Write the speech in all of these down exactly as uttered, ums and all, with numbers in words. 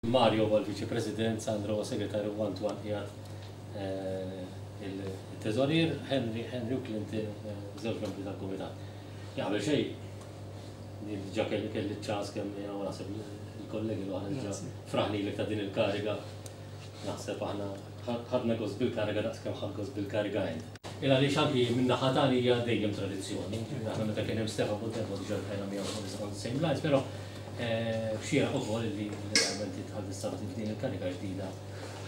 Mario huwa l-Viċi President, Sandro huwa Segretarju u Antoine qiegħed il-Teżorier, Henry, Henry u Clinton żewġ membri tal-Kumitat. Qabel xejn, diġà kelli kelli ċans kemm jiena u naħseb il-kollegi l-oħra diġà fraħnilek ta' din il-kariga. Naħseb aħna ħadna gost bil-kariga daqs kemm ħadt gost bil-kariga int. Il għaliex anki minn naħa tagħna hija dejjem tradizzjoni. Aħna meta kien hemm Stefan Buontempo diġà ltqajna miegħu on the same lines, però xieraq ukoll li realment tħalli f'din il-kariga ġdida,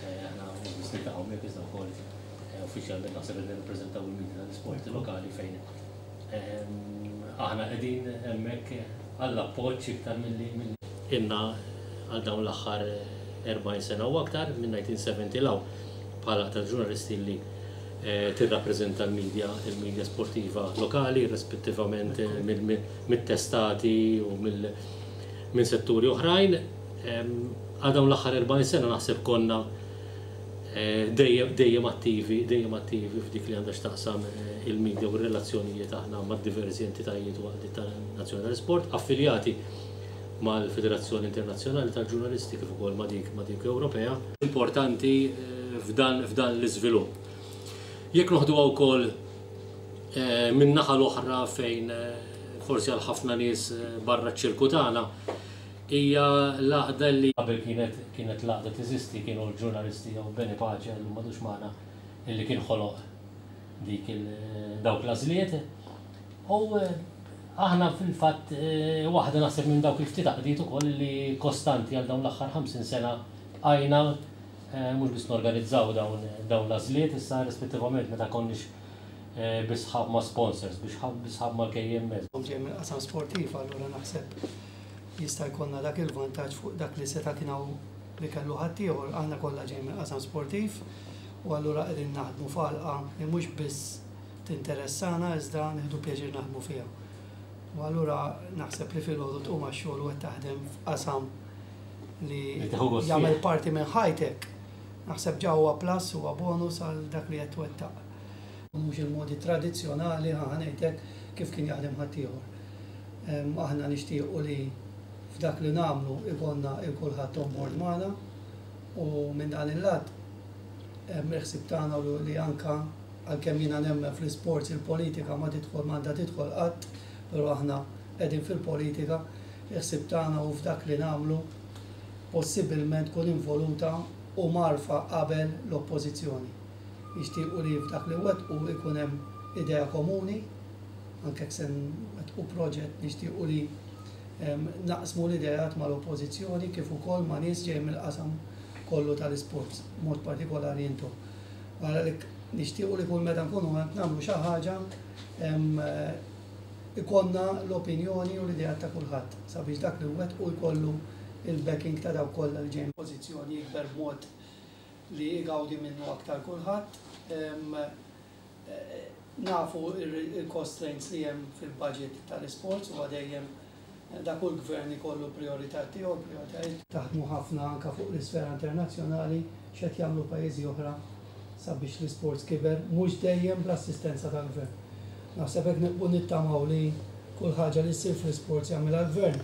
aħna mhux biss niltaqgħu miegħek iżda wkoll uffiċjalment naħseb li nirrappreżentaw il-media tal-isport lokali fejn aħna qegħdin hemmhekk għall-appoġġ iktar milli inna għal dawn l-aħħar erbgħin sena u aktar minn elf disa' mija u sebgħin 'l hawn bħala tal-ġurnalisti li tirrappreżenta l-media il-media sportiva lokali rispettivament mit-testati u minn setturi oħrajn. Għal dawn l-aħħar erbgħin sena naħseb konna dejjem dejjem attivi, dejjem attivi f'dik li għandha x'taqsam il-media u r-relazzjonijiet aħna ma' diversi entitajiet u għaqdiet tal-Nazzjoni tal-Isport, affiljati mal-Federazzjoni Internazzjonali tal-Ġurnalisti kif ukoll ma' dik ma' dik Ewropea. Importanti f'dan f'dan l-iżvilupp. Jekk noħduha wkoll minn naħa l-oħra, fejn forsi għal ħafna nies barra ċ-ċirku tagħna hija l-għaqda li qabel kienet kienet l-għaqda teżisti, kienu l-ġurnalisti jew Beni Pace, llum m'għadux magħna, illi kien ħoloq dik dawk l-għażliet. U aħna fil-fatt waħda naħseb minn dawk il-ftit għaqdiet ukoll li kostanti għal dawn l-aħħar ħamsin sena bqajna mhux biss norganizzaw dawn dawn l-għażliet issa rispettivament meta konniex bi sħab ma' sponsors, bi sħab mal-K M S. Ġej mill-qasam sportiv, allura naħseb jista' jkollna dak il-vantaġġ fuq dak li seta' kien hawn li kellu ħaddieħor. Aħna kollha ġej mill-qasam sportiv u allura qegħdin naħdmu f'għalqa li mhux biss tinteressana iżda nieħdu pjaċir naħdmu fiha. U allura naħseb li filgħodu tqum għax-xogħol u qed taħdem f'qasam li jagħmel parti minn ħajtek. Naħseb ġa huwa plus, huwa bonus għal dak li qed twettaq. Mhux il-modi tradizzjonali, ħa ngħidlek, kif kien jaħdem ħaddieħor. Aħna nixtiequ li f'dak li nagħmlu ikollna il kulħadd on board magħna u minn dan il-lat il-ħsieb tagħna li anka għalkemm jiena nemmen fl-isports il-politika ma tidħol, m'għandha tidħol qatt, però aħna qegħdin fil-politika, il-ħsieb tagħna u f'dak li nagħmlu possibilment tkun involuta u mgħarrfa qabel l-oppożizzjoni. Nixtiequ li f'dak li wettqu ikun hemm idea komuni, anke jekk se nwettqu proġett nixtiequ li naqsmu l-ideat mal-oppożizzjoni kif ukoll ma' nies ġej mill-qasam kollu tal-isports, mod partikolari intom. Għalhekk nixtiequ li kull meta nkunu qed nagħmlu xi ħaġa ikollna l-opinjoni u l-ideat ta' kulħadd sabiex dak li wettqu jkollu il-backing ta' dawk kollha li ġejjin pożizzjoni jikber b'mod li jgawdi minnu aktar kulħadd. Nafu il-constraints li hemm fil-budget tal-isports u dejjem da kull gvern ikollu priorità tiegħu, prioritajiet. Taħdmu ħafna anka fuq l-isfera internazzjonali, x'qed jagħmlu pajjiżi oħra sabiex l-isports kiber, mhux dejjem bl-assistenza tal-gvern. Naħseb hekk nibqgħu nittamaw li kull ħaġa li ssir fl-isports jagħmilha l-gvern,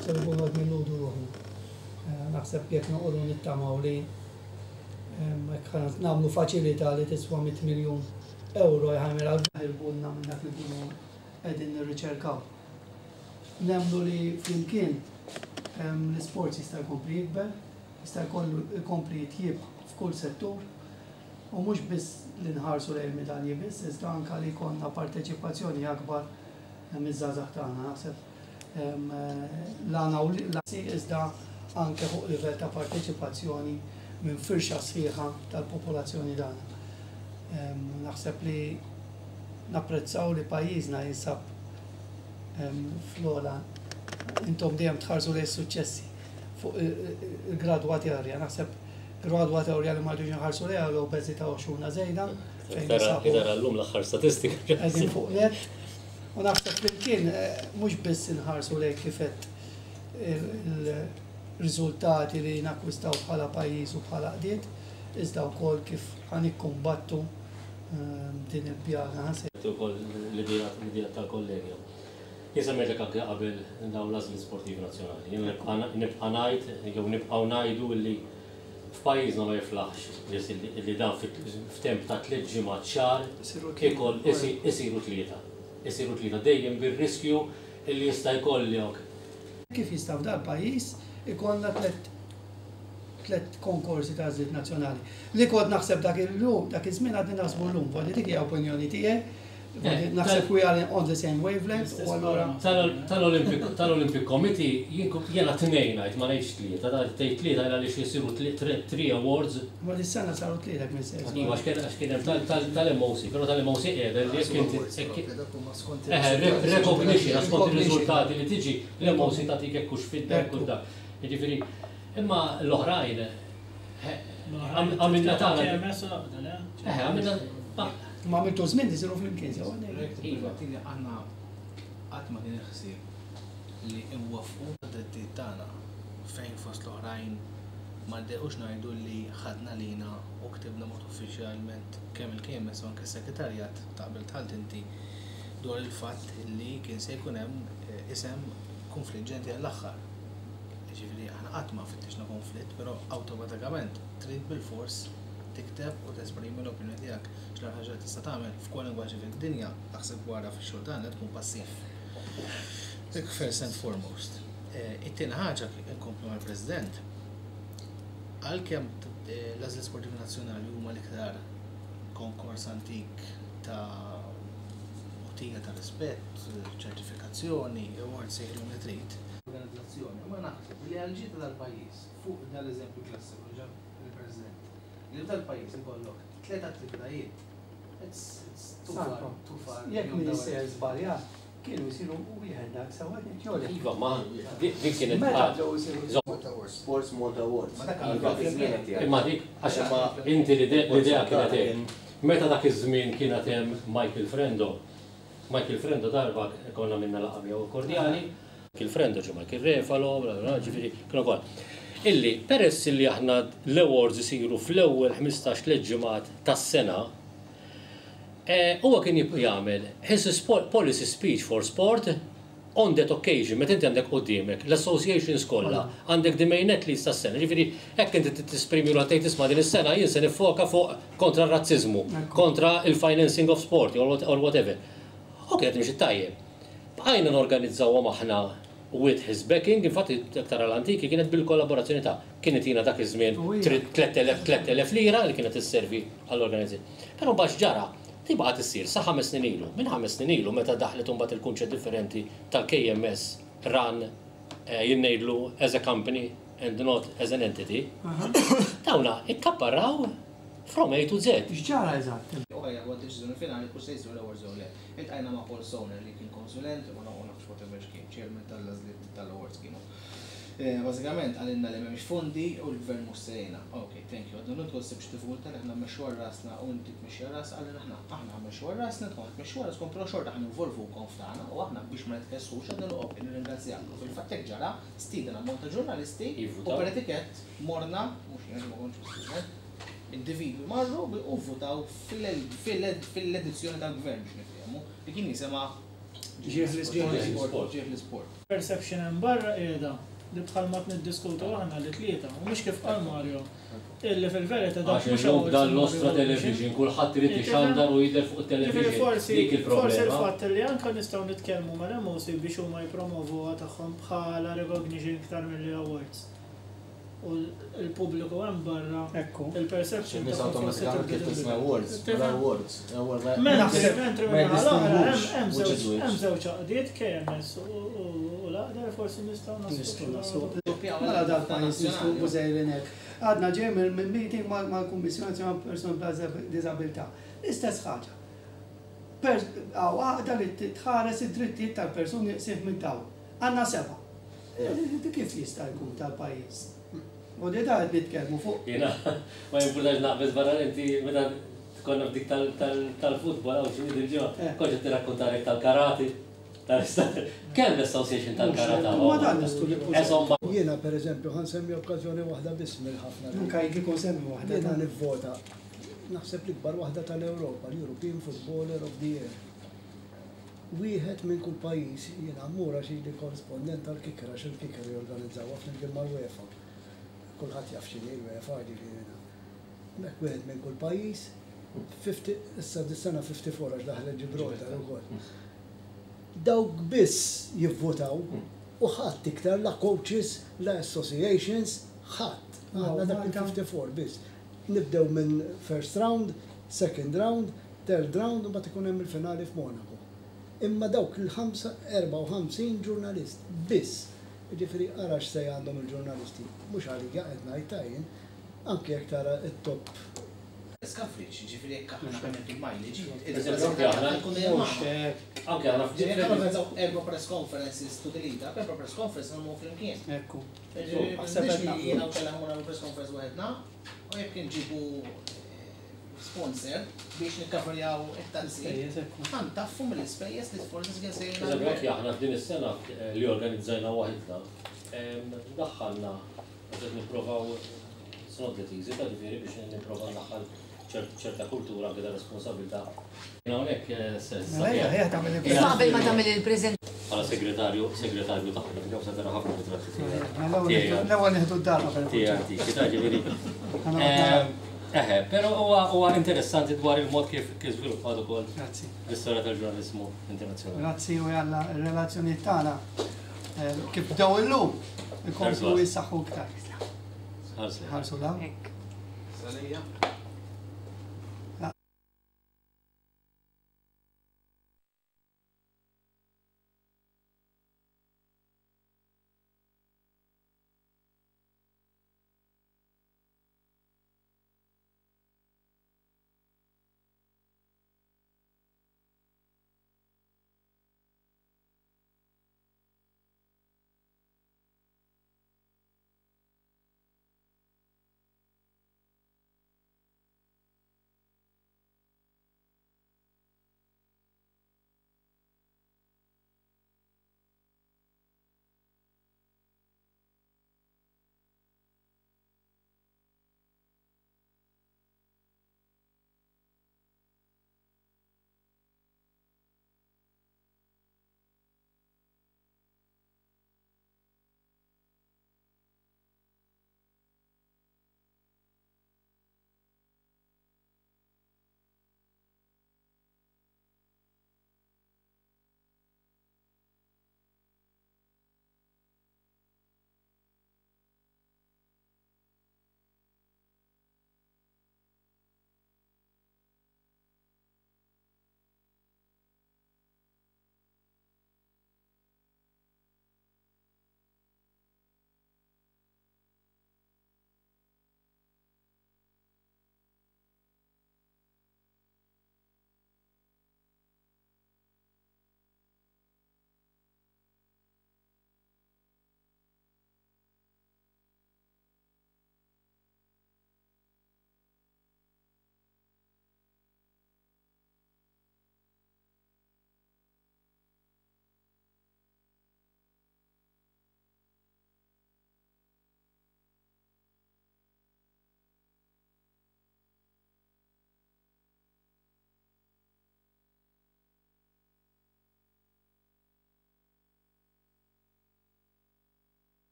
se nkunu qed nilludu ruħna. Naħseb jekk noqogħdu nittamaw li jekk nagħmlu faċilità li tiswa mitt miljun euro jagħmilha l-gvern minn dak li nkunu qegħdin nirriċerkaw. Nemmnu li flimkien l-isports jista' jkompli jikber, jista' jkollu jkompli jitjieb f'kull settur u mhux biss li nħarsu lejn medalji biss, iżda anka li jkollna parteċipazzjoni akbar miż-żgħażagħ tagħna. Naħseb l-għana u iżda anke fuq livell ta' parteċipazzjoni minn firxa sħiħa tal-popolazzjoni tagħna. Naħseb li napprezzaw li pajjiżna jinsab fl-ogħla, intom dejjem tħarsu lejn suċċessi fuq il-gradwatorja. Naħseb gradwatorja li ma rridux nħarsu lejha l-obeżità u xuna żejda. Tara llum l-aħħar statistika. Qegħdin fuq net. U naħseb flimkien mhux biss inħarsu lejn kif qed il-riżultati li nakkwistaw bħala pajjiż u bħala qdiet, iżda wkoll kif ħa nikkumbattu din il-pjaga. Ukoll l-idea tal-kollegja. Jien semmejtlek anke qabel dawn l-għażliet sportivi nazzjonali. Jien nibqa' ngħid jew nibqgħu ngħidu li f'pajjiżna ma jiflaħx li dan f'temp ta' tliet ġimgħat xahar ikoll isiru tlieta. Isiru tlieta dejjem bir-riskju li jista' jkollok. Kif jista' f'dal pajjiż ikollna tliet tliet konkorsi ta' għażliet nazzjonali? Li kont naħseb dak il-lum, dak iż-żmien għadni naħsbu llum, voglio dik hija opinjoni tiegħi. Naħseb we are on the same wavelength u allura. Tal-Olympic Committee jiena tnejn ngħid, ma ngħidx tlieta, tgħid tlieta għaliex jisiru three awards. Ma dis-sena saru tlieta minn se. Iva, għax kien hemm tal-M O C, però tal-M O C qiegħda li jekk inti recognition skont ir-riżultati li tiġi l-M O C tagħtik hekk hux fidda hekk dak. Jiġifieri, imma l-oħrajn għamilna tagħna. Eh, għamilna Ma għamiltu żmien isiru flimkien sewa. Iva, aħna qatt ma kien ħsieb li nwaffqu d-drittijiet tagħna fejn fost l-oħrajn ma ddejqux ngħidu li ħadna lina u ktibna mod uffiċjalment kemm il-K M S u anke s-segretarjat ta' qabel tħalt inti dwar il-fatt li kien se jkun hemm eh, isem konfliġġenti għall-aħħar. Ġifieri aħna qatt ma fittixna konflitt, però awtomatikament trid bil-fors tikteb u tesprimi l-opinjoni tiegħek. X'l ħaġa tista' tagħmel f'kwalunkwe ħaġa fid-dinja, taħseb wara fix-xogħol tagħna tkun passiv. Dik first and foremost. Eh, it-tieni ħaġa, inkomplu mal-President, għalkemm eh, l-Għażliet Sportivi Nazzjonali huma l-iktar konkors antik ta' għotija ta' rispett, ċertifikazzjoni, awards, sejħilhom li trid. Organizzazzjoni, ma naħseb li għal-ġita tal-pajjiż, fuq dal-eżempju klassiku ġab il-President, li f'dal-pajjiż ikollok tliet attivitajiet. It's, it's too far, too far. Jekk minister żbaljat, kienu jsiru wieħed dak sewa jolek. Iva, ma dik kienet Meta bdew isiru Sports Malta Awards. Ma dak Iva, fi żmien qed jgħid. Imma dik, għax inti l-idea kienet hekk. Meta dak iż-żmien kienet hemm Michael Frendo, Michael Frendo darba konna minna laqgħa miegħu kordjali, Michael Frendo ġu Michael Refalo, bla, bla, ġifieri kienu kol. Illi peress li aħna l-awards isiru fl-ewwel ħmistax ġimgħat tas-sena, eh, huwa kien jib- jagħmel his sport, policy speech for sport on that occasion, meta inti għandek quddiemek l-associations kollha, għandek the main athletes tas-sena, ġifieri hekk inti tisprimi l tgħid, "Isma', din is-sena jien se nifoka fuq kontra r-razziżmu, kontra il-financing of sport or what- or whatever." U kienet mhix tajjeb. Bqajna norganizzawhom aħna with his backing, infatti aktar għal-antiki kienet bil-kollaborazzjoni ta' kienet jina dak iż-żmien U hija. tliet elef lira li kienet isservi għall-organizzazzjoni. Però mbagħad ġara, tibqa' issir sa ħames snin ilu. Minn ħames snin ilu meta daħlet imbagħad il-kunċett differenti tal-K M S run eh, jien ngħidlu as a company and not as an entity, dawna ikkapparraw from A to Z. X'ġara eżatt? U ħajja għad deċiżjoni finali kull se jsiru l-awards jew le. Iltqajna ma' Paul Stoner li kien konsulent u ma nafx whatever x'kien, chairman tal-għażliet tal-awards kienu. Eh, Bażikament għalinna li m'hemmx fondi u l-gvern mhux sejna. Ok, thank you. Għadna nidħol sibx diffikultà li aħna mmexxu għal rasna u inti tmexxi għal ras, għalina aħna aħna mmexxu għal rasna, tkun tmexxu għal raskom, però xorta aħna involvukom f'tagħna u aħna biex ma nitkessux għadna ok, nirringrazzjak. U fil-fatt hekk ġara, stieden ammont ta' ġurnalisti u Jivvutaw. Per etikett morna, mhux jien ma kontx student, individwi marru u votaw fil-edizzjoni tal-gvern biex nifhemu li kien jisema Ġieħ l-isport. Ġieħ l-isport. Perception hemm barra qiegħda li bħal ma niddiskutu aħna li tlieta, u mhux kif qal Mario, illi fil-verità dak Għax mhux illum awards dan l-ostra imma television, kulħadd irid ixandar u jidher fuq Ġifieri television. forsi Dik forsi il-problema. il-fatt li anke nistgħu nitkellmu mal-M O C biex huma jippromovuha tagħhom bħala recognition iktar milli awards. U l-pubbliku hemm barra Ekku. il-perception Nies tagħhom forsi awtomatikament kif tibda tisma' tinbidel. awards, Tifhem? mela awards, awards ma- Mentri, mentri ma minnaħa l-oħra, jiddistingwux hemm which is żewġ which. hemm żewġ għaqdiet, K M S u u l-għaqda li forsi nistgħu Nistgħu naslu. naslu. Mela dal-pajjiż nistgħu bużejrin hekk. Għadna ġej minn meeting mal-Kummissjoni Nazzjonali Persuni b'Diżabilità. L-istess ħaġa. Għaw għaqda li tħares id-drittijiet tal-persuni qsieħ minn dawn. Għandna seba'. Di kif jista' jkun tal-pajjiż? U di da qed nitkellmu fuq. Jiena, ma jimpurtax naqbeż barra, inti meta konna f'dik tal-futbol għaw xi il-ġimgħa, Eh. kont qed tirrakkontarek tal-karati. Kemm l-association tal-karate? Ma dan nistgħu li Insomma, Jiena per eżempju ħa nsemmi okkażjoni waħda biss mill-ħafna. Anka jekk ikun semmi waħda. Jiena nivvota naħseb l-ikbar waħda tal-Ewropa, l-European Footballer of the Year. Wieħed minn kull pajjiż, jiena mmur għax ili korrispondent tal-Kicker, għax il-Kicker jorganizzawha flimkien mal-UEFA. Kulħadd jaf x'inhi l-UEFA, ġifieri. Hemmhekk wieħed minn kull pajjiż, fifty, issa dis-sena fifty-four għax daħlet Gibraltar ukoll. Dawk biss jivvotaw u ħadd iktar, la coaches, la associations, ħadd. Aħna dak il-fifty-four biss. Nibdew minn first round, second round, third round u mbagħad ikun hemm il-finali f'Monaco. Imma dawk il-ħamsa, erbgħa u ħamsin ġurnalist biss. Ġifieri ara x'se għandhom il-ġurnalisti. Mhux għalija qed ngħid ta' jien, anke jekk tara it-top Coverage, ġifieri jekk aħna għamiltu mileage, Eżempju, aħna- Mhux hekk. Anke aħna Ġifieri jekk organizzaw erba' press conferences to the lead up, erba' press conference nagħmlu flimkien. Ekku. Ġifieri Aħseb biex qed naqblu. jiena u kellha nagħmlu press conference waħedna, u jekk nġibu sponsor biex nikkaverjaw it-taxi, Spejjeż, ekku. ħa ntaffu mill-ispejjeż li forsi kien se Eżempju, anke aħna f'din is-sena eh, li organizzajna waħedna, em, daħħalna, qed nipprovaw, it's not that easy, ta' ġifieri biex nipprova ndaħħal ċert- ċerta kultura anke ta' responsabilità. Hawnhekk eh, se Mela ejja, ejja tagħmel il Imma qabel ma tagħmel il-preżent bħala segretarju, segretarju tagħna, kif se tara ħafna ritratti tiegħi. Mela l-ewwel nieħdu d-dar qabel. Tiegħi antiki, ta' ġifieri. Ħana Em, Eħe, però huwa huwa interessanti dwar il-mod kif kif żviluppat ukoll Grazzi. l-istorja tal-ġurnaliżmu internazzjonali. Grazzi u jalla il-relazzjoni tagħna eh, kif bdew illum ikomplu Ħarsu. jissaħħu iktar. Ħarsu. Ħarsu law. Hekk. Salija.